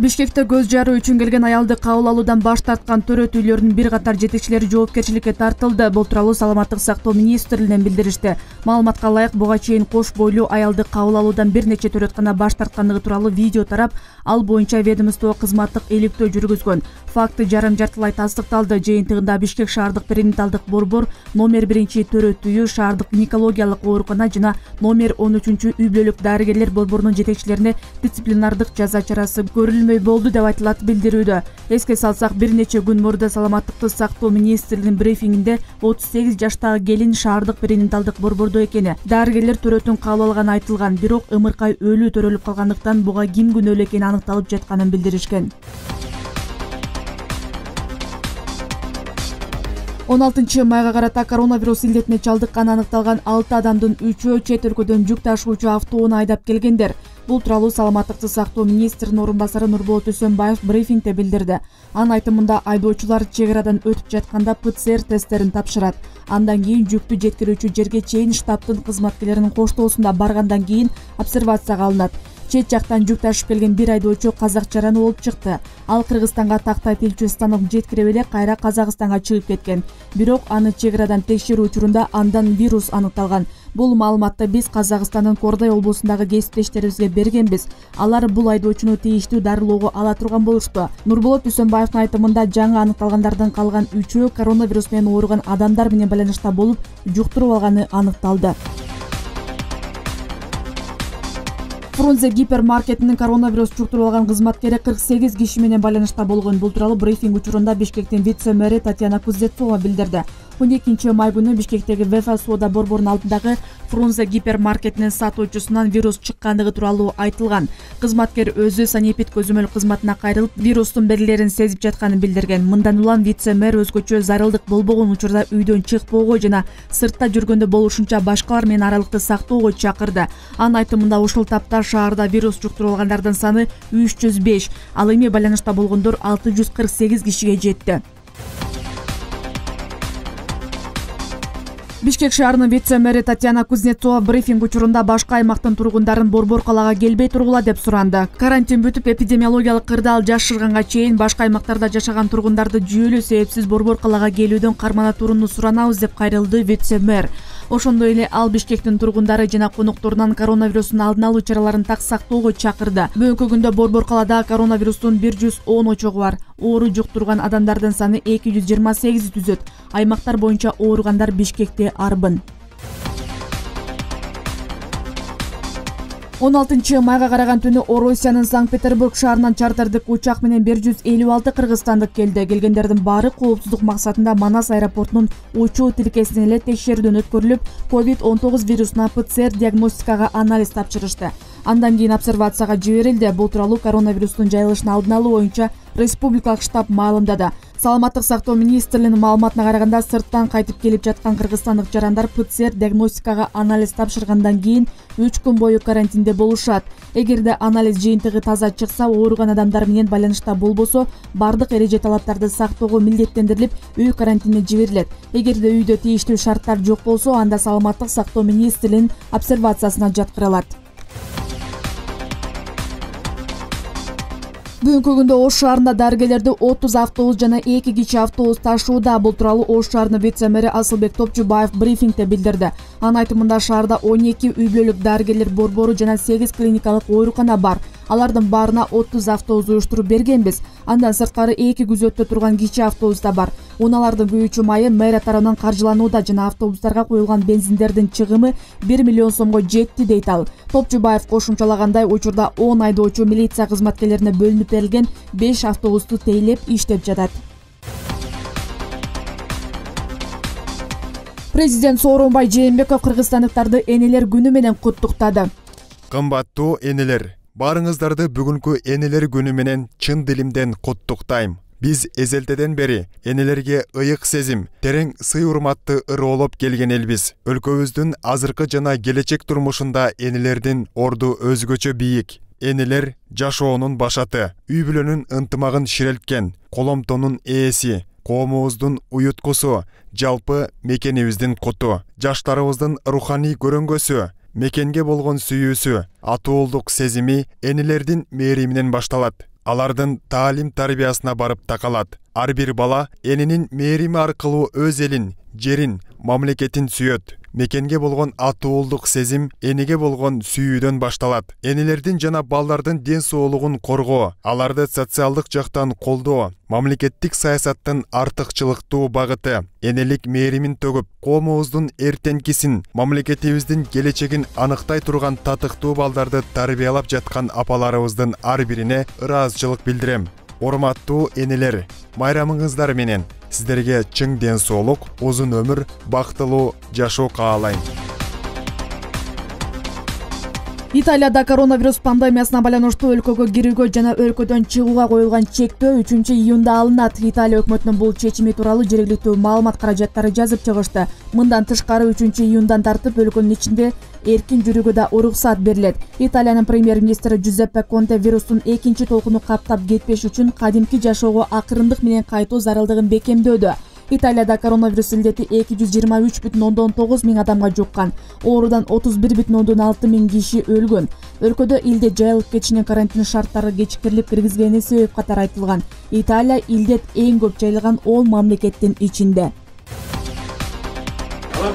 Бишкекте көз жаруу үчүн келген аялды кабыл алуудан баш тарткан төрөт үйлөрүнүн бир катар жетекчилери жоопкерчиликке тартылды. Бул тууралуу Саламаттык сактоо министрлигинен билдиришти. Маалыматка ылайык, буга чейин кош бойлуу аялды кабыл алуудан бир нече төрөткана баш тарткандыгы тууралуу видео тарап, ал боюнча ведомство кызматтык иликтөө жүргүзгөн. Факты жарым-жартылай тастыкталды. Жыйынтыгында Бишкек шаардык перинаталдык борбор, номер 1 төрөт үйү, шаардык гинекологиялык оорукана жана номер 13 үй бүлөлүк дарыгерлер борборунун жетекчилерине дисциплинардык жаза чарасы көрүлмөй болду деп айтылат билдирүүдө. Эске салсак, бир нече күн мурда Саламаттыкты сактоо министрлигинин брифингинде 38 жаштагы келин шаардык перинаталдык борбордо экени, дарыгерлер төрөтүн кабыл алганы айтылган, бирок ымыркай өлүү төрөлүп калгандыктан буга ким күнөөлүү экени аныкталып жатканын билдиришкен. 16 майга карата коронавирус илдетине чалдыкканы аныкталган 6 адамдын 3-өө чет өлкөдөн жүк ташуучу автоону айдап келгендер. Бул тууралуу Саламаттыкты сактоо министринин орун басары Нурболот Үсөнбаев брифингде билдирди. Анын айтымында, айдоочулар чек арадан өтүп жатканда ПЦР тесттерин тапшырат. Андан кийин жүктү жеткирүүчү жерге чейин штабтын кызматкерлеринин коштоосунда баргандан кийин обсервацияга алынат. Чет жактан жүк ташып келген бир айдоочу казакчараны болуп чыкты. Ал Кыргызстанга тактай тилчү станок жеткирип эле кайра Казакстанга чыгып кеткен. Бирок аны чек арадан текшерүү учурунда андан вирус аныкталган. Бул маалыматты биз Казакстандын Кордай облусундагы кесиптештерибизге бергенбиз. Алар бул айдоочуну тийиштүү дарылоого ала турган болушту. Нурболот Үсөнбаевдин айтымында, жаңы аныкталгандардын калган 3-өө коронавирус менен ооруган адамдар менен байланышта болуп, жуктуруп алганы аныкталды. Фрунзе гипермаркетинин коронавирус жуктуруп алган кызматкери 48 киши менен байланышта болгон. Бул тууралуу брифинг учурунда Бишкектин вице-мэри Татьяна Кузнецова билдирди. 12 май күнү Бишкектеги ВФ соода борборунун алдындагы Фрунзе гипермаркетинин сатуучусунан вирус чыккандыгы тууралуу айтылган. Кызматкер өзү санепид көзөмөл кызматына кайрылып, вирустун белгилерин сезип жатканын билдирген. Мындан улам вице-мэр өзгөчө зарылдык болбогон учурда үйдөн чыкпоого жана сыртта жүргөндө болушунча башкалар менен аралыкты сактоого чакырды. Анын айтымында, ушул тапта шаарда вирус жуктуруп алгандардын саны 305, ал эми байланышта болгондор 648 кишиге жетти. Бишкек шаарынын вице-мэри Татьяна Кузнецова брифинг учурунда башка аймактын тургундарын борбор калаага келбей тургула деп суранды. Карантин бүтүп, эпидемиологиялык кырдаал жашырганга чейин башка аймактарда жашаган тургундарды жүйөлүү себепсиз борбор калаага келүүдөн кармана турууну суранабыз деп кайрылды вице-мэр. Ошондой эле ал Бишкектин тургундары жана конокторунан коронавирустун алдын алуу чараларын так сактоого чакырды. Бүгүнкү күндө борбор калаада коронавирустун 110 очогу бар. Оору жуктурган адамдардын саны 228 түзөт. Аймактар боюнча ооругандар Бишкекте арбын. 16 майга караган түнү Орусиянын Санкт-Петербург шаарынан чартердик учак менен 156 кыргызстандык келди. Келгендердин баары коопсуздук максатында Манас аэропортунун учуу тилкесинен эле текшерүүдөн өткөрүлүп, COVID-19 вирусуна ПЦР диагностикага анализ тапшырышты. Андан кийин обсервацияга жиберилди. Бул тууралуу коронавирустун жайылышын алдын алуу боюнча республикалык штаб маалымдады. Саламаттык сактоо министрлигинин маалыматына караганда, сырттан кайтып келип жаткан кыргызстандык жарандар ПЦР диагностикага анализ тапшыргандан кийин 3 күн бою карантинде болушат. Эгерде анализ жыйынтыгы таза чыкса, ооруган адамдар менен байланышта болбосо, бардык эреже талаптарды сактоого милдеттендирилип, үй карантинине жиберилет. Эгерде үйдө тийиштүү шарттар жок болсо, анда Саламаттык сактоо министрлигинин обсервациясына жаткырылат. Бүгүнкү күндө Ош шаарында дарыгерлерди 30 автобус жана 2 кичи автобус ташууда. Бул тууралуу Ош шаарынын вице-мэри Асылбек Топчубаев брифингде билдирди. Анын айтымында, шаарда 12 үй бүлөлүк дарыгерлер борбору жана 8 клиникалык оорукана бар. Алардын баарына 30 автобус уюштуруп бергенбиз. Андан сырткары 2 күзөттө турган кичи автобус да бар. Унаалардын күйүүчү майы мэрия тарабынан каржыланууда жана автобустарга куюлган бензиндердин чыгымы 1 миллион сомго жетти, дейт ал. Топчубаев кошумчалагандай, учурда 10 айдоочу милиция кызматкерлерине бөлүнүп берилген 5 автобусту тейлеп иштеп жатат. Президент Сооронбай Жээнбеков кыргызстандыктарды энелер күнү менен куттуктады. Кымбаттуу энелер, баарыңыздарды бүгүнкү энелер күнү менен чын дилимден куттуктайм. Биз эзелтеден бери энелерге ыйык сезим, терең сый-урматты ырыолоп келген элбиз. Өлкөбүздүн азыркы жана келечек турмушунда энелердин орду өзгөчө бийик. Энелер жашоонун башаты, үй бүлөнүн ынтымагын ширелткен, коломтонун ээси, коомубуздун уюткусу, жалпы мекенибиздин куту, жаштарыбыздын руханий көрөнгөсү, мекенге болгон сүйүүсү, атуулдук сезими энелердин мээриминен башталат. алардын таалим тарбиясына барып такалат. Ар бир бала энинин мээрими аркылуу өз элин, жерин, мамлекетин сүйөт. Мекенге болгон атуулдук сезим эниге болгон сүйүүдөн башталат. Энелердин жана балдардын ден соолугун коргоо, аларды социалдык жактан колдоо, мамлекеттик саясаттын артыкчылыктуу багыты, энелик мээримин төгүп, коомубуздун эртеңкисин, мамлекетибиздин келечегин аныктай турган татыктуу балдарды тарбиялап жаткан апаларыбыздын ар бирине ыраазычылык билдирем. Урматтуу энелер, майрамыңыздар менен сиздерге чың ден соолук, узун өмүр, бактылуу жашоо каалайм. Италияда коронавирус пандемиясына байланыштуу өлкөгө кирүүгө жана өлкөдөн чыгууга коюлган чектөө 3-июнда алынат. Италия өкмөтүнүн бул чечими тууралуу жергиликтүү маалымат каражаттары жазып чыгышты. Мындан тышкары 3-июндан тартып өлкөнүн ичинде эркин жүрүүгө да уруксат берилет. Италиянын премьер-министри Джузеппе Конте вирустун экинчи толкуну каптап кетпеш үчүн кадимки жашоого акырындык менен кайтуу зарылдыгын бекемдөөдө. Италияда коронавирус илдети 223,9 миң адамга жуккан. Оорудан 31,6 миң киши өлгөн. Өлкөдө илдет жайылып кетишине карантин шарттары кечиктерилип киргизгени себеп катары айтылган. Италия илдет эң көп жайылган 10 мамлекеттин ичинде.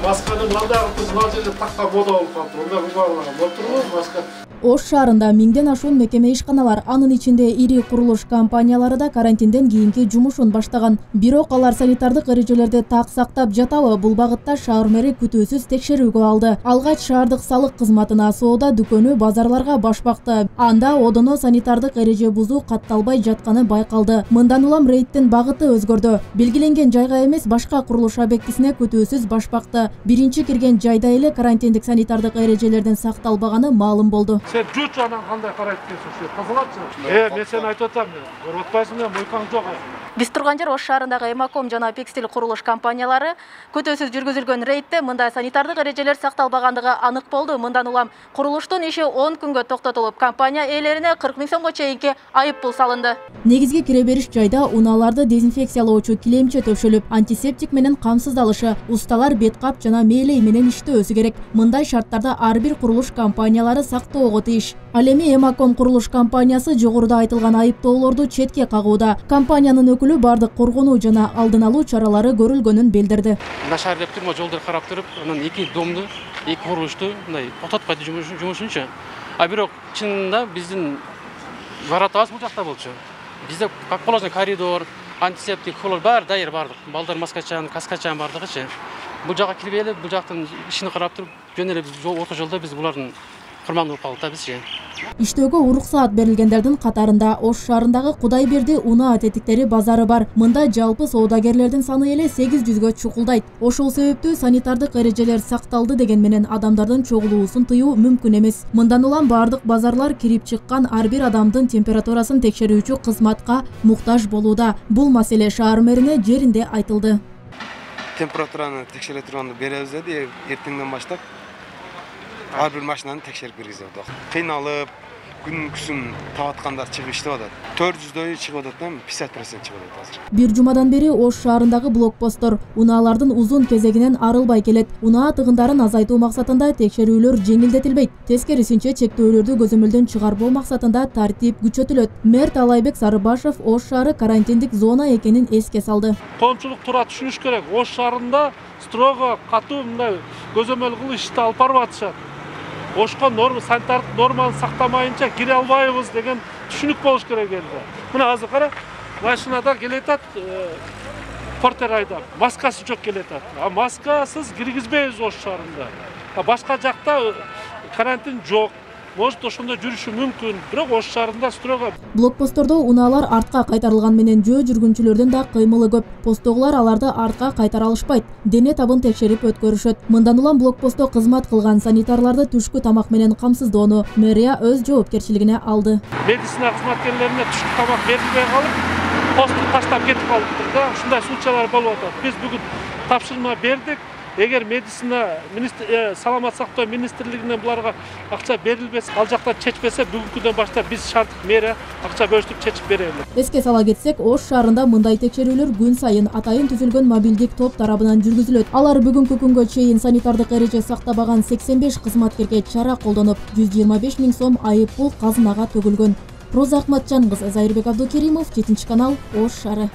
Масканы мына жерде такка мода болуп калды. Онда баарлар отурбу маска. Ош шаарында миңден ашуун мекеме ишканалар, анын ичинде ири курулуш компаниялары да карантинден кийинки жумушун баштаган. Бирок алар санитардык эрежелерди так сактап жатабы? Бул багытта шаар мэри күтүүсүз текшерүүгө алды. Алгач шаардык салык кызматына соода дүкөнү, базарларга баш бакты. Анда одоно санитардык эреже бузуу катталбай жатканы байкалды. Мындан улам рейдтин багыты өзгөрдү. Белгиленген жайга эмес, башка курулуш объектисине күтүүсүз баш бакты. Биринчи кирген жайда эле карантиндик санитардык эрежелердин сакталбаганы маалым болду. Sen жуч анан кандай карайт экенсиң? Кызыгатчы. Мен сени айтып атам, көрүп атпайсыңбы, мойкаң жок. Биз турган жер Ош шаарындагы Эмаком жана Пекстил курулуш компаниялары күтүүсүз жүргүзүлгөн рейдте мындай санитардык эрежелер сакталбагандыгы анык болду. Мындан улам курулуштун иши 10 күнгө токтотулуп, компания ээлерине 40 миң сомго чейинки айып пул салынды. Негизги кире бериш жайда унааларды дезинфекциялоочу килемче төшөлүп, антисептик менен камсыздалышы, усталар бет кап жана мээлей менен иштөөсү керек. Мындай шарттарда ар бир курулуш компаниялары сактоого тийиш. Ал эми Эмаком курулуш компаниясы жогоруда айтылган айыптоолорду четке кагууда. Компаниянын өкүлү бардык коргонуу жана алдын алуу чаралары көрүлгөнүн билдирди. Нашар деп турма жолдор карап туруп, анан эки домду, эки курулушту мындай токтоткойт жумушунчу. А бирок чынында биздин баратабыз бул жакта болчу. Бизде как положено коридор, антисептик, хлор баары дайыр бардык. Балдар маскачан, каскачан бардыгычы. Бул жакка кирип эле, бул жактын ишин карап туруп, жөн эле орто жолдо биз булардын курмандуу болуп калдык бизчи. Иштөөгө уруксаат берилгендердин катарында Ош шаарындагы Кудайберди унаа тетиктери базары бар. Мында жалпы соодагерлердин саны эле 800гө чукулдайт. Ошол себептүү санитардык эрежелер сакталды деген менен адамдардын чогулуусун тыюу мүмкүн эмес. Мындан улам бардык базарлар кирип чыккан ар бир адамдын температурасын текшерүүчү кызматка муктаж болууда. Бул маселе шаар мэрине жеринде айтылды. Температураны текшере турганды беребиз деди, эртеңден баштап. Ар бир машинаны текшерип киргизип атат. Кыйналып, күн тагаткандар чыгып иштеп атат. 400дөй чыгып атат, 50% чыгып атат азыр. Бир жумадан бери Ош шаарындагы блокпосттор унаалардын узун кезегинен арылбай келет. Унаа тыгындарын азайтуу максатында текшерүүлөр жеңилдетилбейт. Тескерисинче чектөөлөрдү көзөмөлдөн чыгарбоо максатында тартип күчөтүлөт. Мэр Талайбек Сарыбашев Ош шаары карантиндик зона экенин эске салды. Коомчулук туура түшүнүш керек. Ош шаарында строго катуу мындай көзөмөл кылып ишти алып барып атышат. Ошко санитардык норманы сактамайынча кире албайбыз деген түшүнүк болуш керек элде. Мына азыр кара, машинада келетат, портер айдап, маскасы жок келетат. А маскасыз киргизбейбиз Ош шаарында. Башка жакта карантин жок. Может, ошондо жүрүшү мүмкүн, бирок Ош шаарында строго. Блокпосттордо унаалар артка кайтарылган менен жөө жүргүнчүлөрдүн да кыймылы көп. Посттогулар аларды артка кайтара алышпайт. Дене табын текшерип өткөрүшөт. Мындан улам блокпостто кызмат кылган санитарларды түшкү тамак менен камсыздоону мэрия өз жоопкерчилигине алды. Медицина кызматкерлерине түшкү тамак берилбей калып, посту таштап кетип калыптыр да. Ушундай случайлар болуп атат. Биз бүгүн тапшырма бердик. Эгер медицина саламат сактоо министрлигинен буларга акча берилбесе, ал жактан чечпесе, бүгүнкүдөн баштап биз шаардык мэрия акча бөлүштүрүп чечип беребиз. Эске сала кетсек, Ош шаарында мындай текшерүүлөр күн сайын атайын түзүлгөн мобилдик топ тарабынан жүргүзүлөт. Алар бүгүнкү күнгө чейин санитардык эреже сактабаган 85 кызматкерге чара колдонуп, 125 миң сом айып пул казынага төгүлгөн. Роза Акматжан кызы, Зайырбек Абдукеримов, 7 канал, Ош шаары.